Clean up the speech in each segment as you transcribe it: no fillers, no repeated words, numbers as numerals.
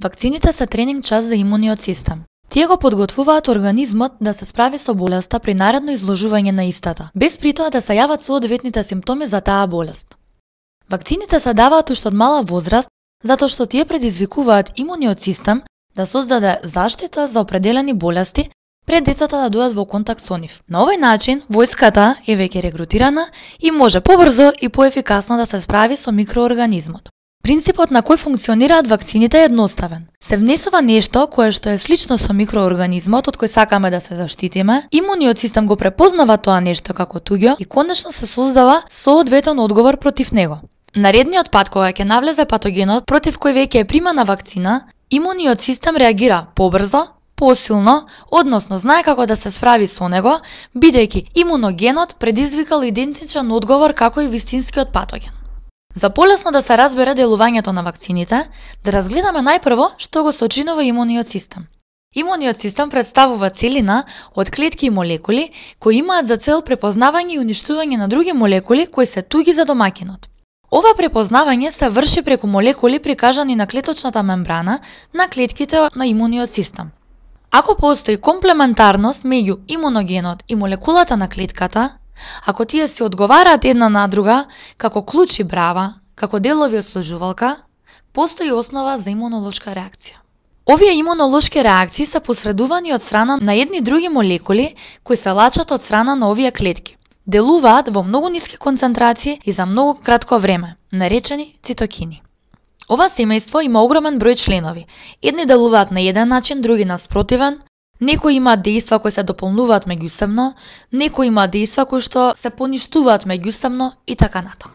Вакцините се тренинг час за имуниот систем. Тие го подготвуваат организмот да се справи со болеста при наредно изложување на истата, без притоа да се јават соодветните симптоми за таа болест. Вакцините се даваат уште од мала возраст, затоа што тие предизвикуваат имуниот систем да создаде заштита за определени болести пред децата да дојдат во контакт со нив. На овој начин, војската е веќе регрутирана и може побрзо и поефикасно да се справи со микроорганизмот. Принципот на кој функционираат вакцините е едноставен. Се внесува нешто кое што е слично со микроорганизмот од кој сакаме да се заштитиме, имуниот систем го препознава тоа нешто како туѓо и конечно се создава соодветен одговор против него. Наредниот пат кога ќе навлезе патогенот против кој веќе е примана вакцина, имуниот систем реагира побрзо, посилно, односно знае како да се справи со него, бидејќи имуногенот предизвикал идентичен одговор како и вистинскиот патоген. За полесно да се разбере делувањето на вакцините, да разгледаме најпрво што го сочинува имуниот систем. Имуниот систем представува целина од клетки и молекули кои имаат за цел препознавање и уништување на други молекули кои се туги за домаќинот. Ова препознавање се врши преку молекули прикажани на клеточната мембрана на клетките на имуниот систем. Ако постои комплементарност меѓу имуногенот и молекулата на клетката, ако тие се одговараат една на друга, како клуч и брава, како делови од сложувалка, постои основа за имунолошка реакција. Овие имунолошки реакции се посредувани од страна на едни други молекули кои се лачат од страна на овие клетки. Делуваат во многу ниски концентрации и за многу кратко време, наречени цитокини. Ова семејство има огромен број членови. Едни делуваат на еден начин, други на спротивен. Некои имаат дејства кои се дополнуваат меѓусебно, некои имаат дејства кои што се поништуваат меѓусебно и така натаму.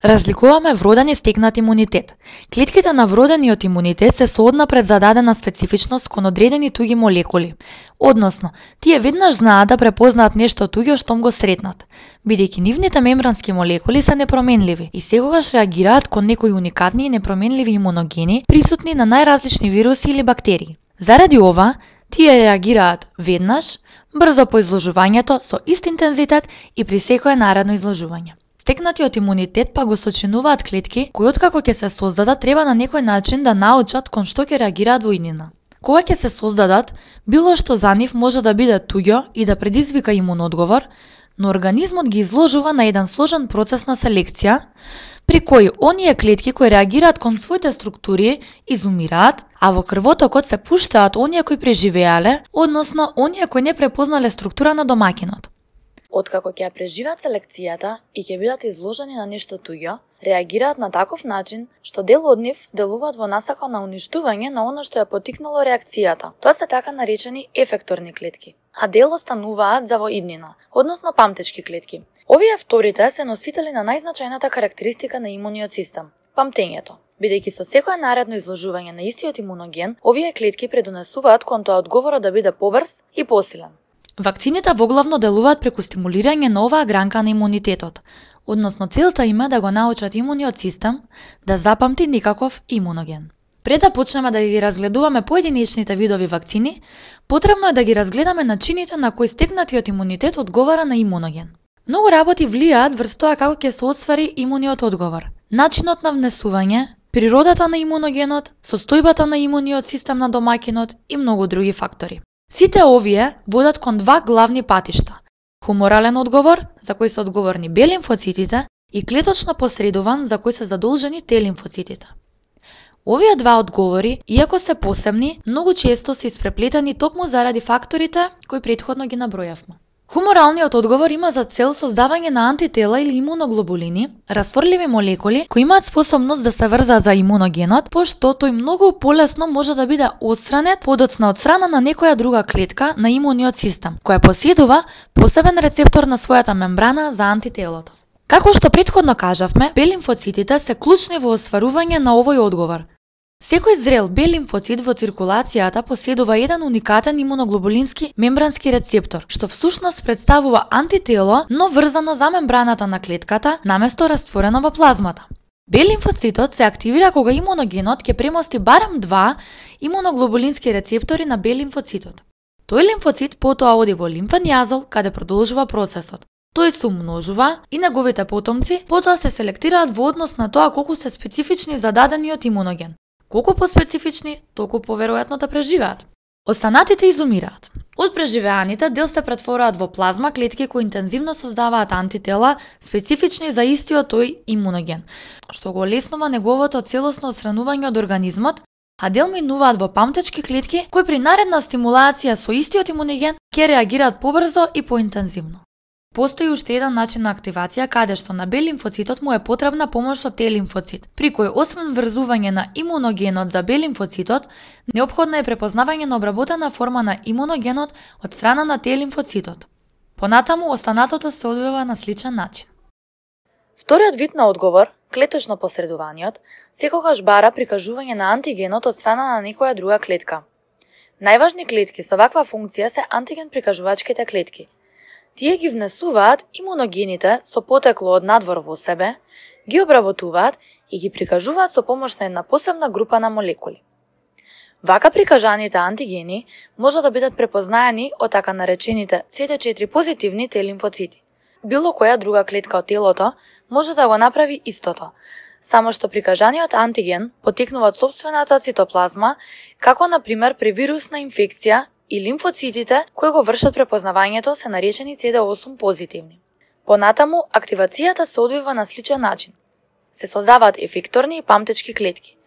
Разликуваме вроден и стекнат имунитет. Клетките на вродениот имунитет се сооднапред зададена специфичност кон одредени туги молекули. Односно, тие веднаш знаат да препознаат нешто туѓо штом го сретнат, бидејќи нивните мембрански молекули се непроменливи и секогаш реагираат кон некои уникатни и непроменливи имуногени присутни на најразлични вируси или бактерии. Заради ова, тие реагираат веднаш, брзо по изложувањето со ист интензитет и при секое наредно изложување. Стекнатиот имунитет па го сочинуваат клетки кои откако ќе се создадат треба на некој начин да научат кон што ќе реагираат во иднина. Кога ќе се создадат, било што за нив може да биде туѓо и да предизвика имунодговор, но организмот ги изложува на еден сложен процес на селекција, при кој оние клетки кои реагираат кон своите структури изумираат, а во крвотокот се пуштаат оние кои преживеале, односно оние кои не препознале структура на домаќинот. Откако ќе ја преживеат селекцијата и ќе бидат изложени на нешто туѓо, реагираат на таков начин што дел од нив делуваат во насака на уништување на она што ја поттикнало реакцијата. Тоа се така наречени ефекторни клетки, а дел остануваат за во иднина, односно памтечки клетки. Овие вторите се носители на најзначајната карактеристика на имуниот систем – памтењето. Бидејќи со секое наредно изложување на истиот имуноген, овие клетки предонесуваат кон тоа одговорот да биде побрз и посилен. Вакцините воглавно делуваат преку стимулирање на оваа гранка на имунитетот, односно целта им е да го научат имуниот систем да запамти никаков имуноген. Пред да почнеме да ги разгледуваме поединечните видови вакцини, потребно е да ги разгледаме начините на кои стекнатиот имунитет одговара на имуноген. Многу работи влијаат врз тоа како ќе се оствари имуниот одговор. Начинот на внесување, природата на имуногенот, состојбата на имуниот систем на домаќинот и многу други фактори. Сите овие водат кон два главни патишта – хуморален одговор, за кој се одговорни Б лимфоцитите, и клеточно посредуван, за кој се задолжени Т лимфоцитите. Овие два одговори, иако се посебни, многу често се испреплетени токму заради факторите кои претходно ги набројавме. Хуморалниот одговор има за цел создавање на антитела или имуноглобулини, растворливи молекули кои имаат способност да се врзаат за имуногенот, пошто тој многу полесно може да биде отстранет подоцна од страна на некоја друга клетка на имуниот систем, која поседува посебен рецептор на својата мембрана за антителото. Како што претходно кажавме, Б лимфоцитите се клучни во остварување на овој одговор. Секој зрел Б лимфоцит во циркулацијата поседува еден уникатен имуноглобулински мембрански рецептор, што всушност представува антитело, но врзано за мембраната на клетката, наместо растворено во плазмата. Б лимфоцитот се активира кога имуногенот ќе премости барем два имуноглобулински рецептори на Б лимфоцитот. Тој лимфоцит потоа оди во лимфен јазол, каде продолжува процесот. Тој се умножува и неговите потомци потоа се селектираат во однос на тоа колку се специфични за дадениот имуноген. Колку поспецифични, толку поверојатно да преживеат. Останатите изумираат. Од преживеаните дел се претворуваат во плазма клетки кои интензивно создаваат антитела специфични за истиот тој имуноген, што го олеснува неговото целосно отстранување од организмот, а дел минуваат во памтечки клетки кои при наредна стимулација со истиот имуноген ќе реагираат побрзо и поинтензивно. Постои уште еден начин на активација каде што на Б лимфоцитот му е потребна помош од Т лимфоцит, при кој освен врзување на имуногенот за Б лимфоцитот, неопходна е препознавање на обработена форма на имуногенот од страна на Т лимфоцитот. Понатаму останатото се одвива на сличен начин. Вториот вид на одговор, клеточно посредуваниот, секогаш бара прикажување на антигенот од страна на некоја друга клетка. Најважни клетки со ваква функција се антиген прикажувачките клетки. Тие ги внесуваат имуногените со потекло од надвор во себе, ги обработуваат и ги прикажуваат со помош на една посебна група на молекули. Вака прикажаните антигени може да бидат препознаени од така наречените CD4 позитивни Т лимфоцити. Било која друга клетка од телото може да го направи истото, само што прикажаниот антиген потекнува од сопствената цитоплазма, како на пример при вирусна инфекција, и лимфоцитите кои го вршат препознавањето се наречени CD8 позитивни. Понатаму, активацијата се одвива на сличен начин. Се создаваат ефекторни и памтечки клетки.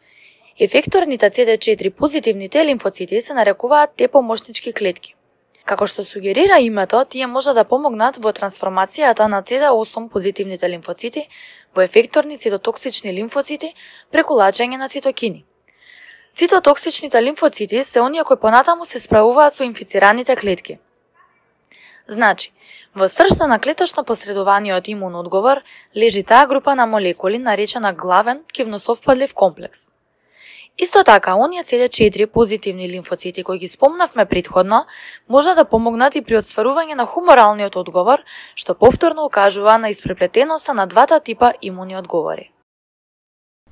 Ефекторните CD4 позитивни Т лимфоцити се нарекуваат Т помошнички клетки. Како што сугерира името, тие може да помогнат во трансформацијата на CD8 позитивните лимфоцити во ефекторни цитотоксични лимфоцити преку лачење на цитокини. Цитотоксичните лимфоцити се оние кои понатаму се справуваат со инфицираните клетки. Значи, во срцта на клеточно посредуваниот имун одговор лежи таа група на молекули наречена главен кивносовпадлив комплекс. Исто така, оние CD4 позитивни лимфоцити кои ги спомнавме претходно, може да помогнат и при отстварување на хуморалниот одговор, што повторно укажува на испреплетеноста на двата типа имуни одговори.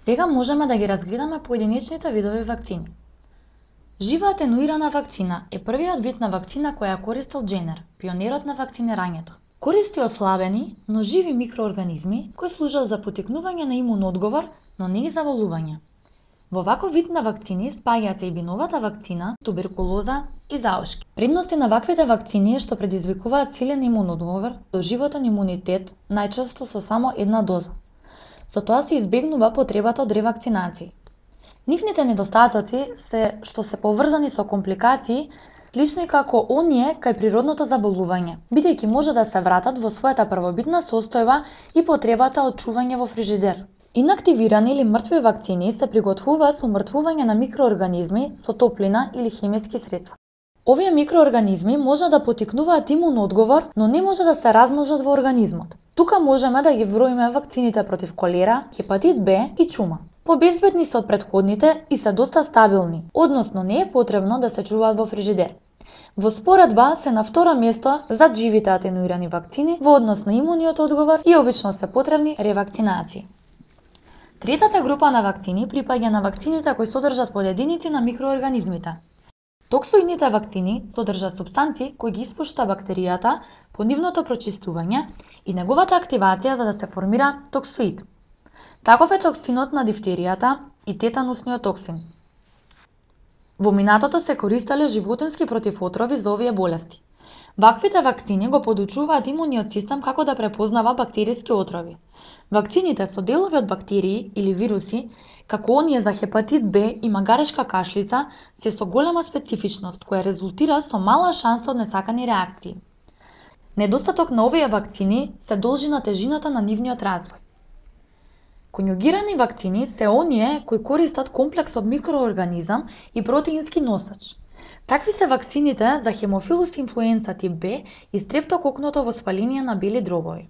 Сега можеме да ги разгледаме поединечните видови вакцини. Жива атенуирана вакцина е првиот вид на вакцина која користел Дженер, пионерот на вакцинирањето. Користи ослабени, но живи микроорганизми кои служат за потекнување на имун одговор, но не и за болување. Во ваков вид на вакцини спаѓаат се и биновата вакцина, туберкулоза и заошки. Предности на ваквите вакцини е што предизвикуваат силен имун одговор, доживотен имунитет, најчесто со само една доза. Со тоа се избегнува потребата од ревакцинации. Нивните недостатоци се што се поврзани со компликации, слични како оние кај природното заболување, бидејќи може да се вратат во својата првобитна состојба и потребата од чување во фрижидер. Инактивирани или мртви вакцини се приготвуваат со умртвување на микроорганизми со топлина или хемиски средства. Овие микроорганизми може да потикнуваат имун одговор, но не може да се размножат во организмот. Тука можеме да ги вброиме вакцините против колера, хепатит Б и чума. Побезбедни се од претходните и се доста стабилни, односно не е потребно да се чуваат во фрижидер. Во споредба се на второ место зад живите атенуирани вакцини во однос на имуниот одговор и обично се потребни ревакцинации. Третата група на вакцини припаѓа на вакцините кои содржат подединици на микроорганизмите. Токсоидните вакцини содржат супстанции кои ги испушта бактеријата по нивното прочистување и неговата активација за да се формира токсоид. Таков е токсинот на дифтеријата и тетанусниот токсин. Во минатото се користеле животински противотрови за овие болести. Ваквите вакцини го подучуваат имуниот систем како да препознава бактериски отрови. Вакцините со делови од бактерии или вируси, како оние за хепатит Б и магарешка кашлица, се со голема специфичност која резултира со мала шанса од несакани реакции. Недостаток на овие вакцини се должи на тежината на нивниот развој. Конјугирани вакцини се оние кои користат комплекс од микроорганизам и протеински носач. Такви се вакцините за хемофилус инфлуенца тип Б и стрептококното воспаление на бели дробови.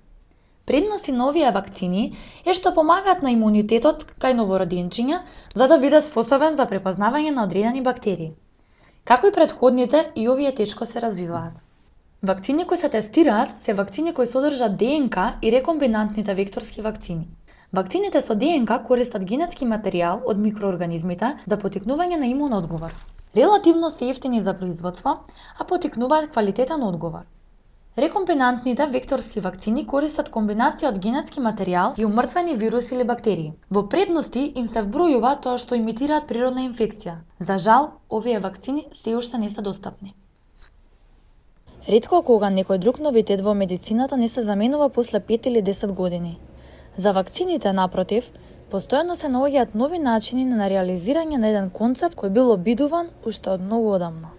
Предности на овие вакцини е што помагаат на имунитетот кај новороденчиња за да биде способен за препознавање на одредени бактерии. Како и претходните, и овие тешко се развиваат. Вакцини кои се тестираат се вакцини кои содржат ДНК и рекомбинантните векторски вакцини. Вакцините со ДНК користат генетски материјал од микроорганизмите за потикнување на имун одговор. Релативно се ефтини за производство, а потикнуваат квалитетен одговор. Рекомбинантните векторски вакцини користат комбинација од генетски материјал и умртвени вируси или бактерии. Во предности им се вбројува тоа што имитираат природна инфекција. За жал, овие вакцини се уште не се достапни. Ретко кога некој друг новитет во медицината не се заменува после 5 или 10 години. За вакцините, напротив, постојано се наоѓаат нови начини на реализирање на еден концепт кој бил обидуван уште од многу одамна.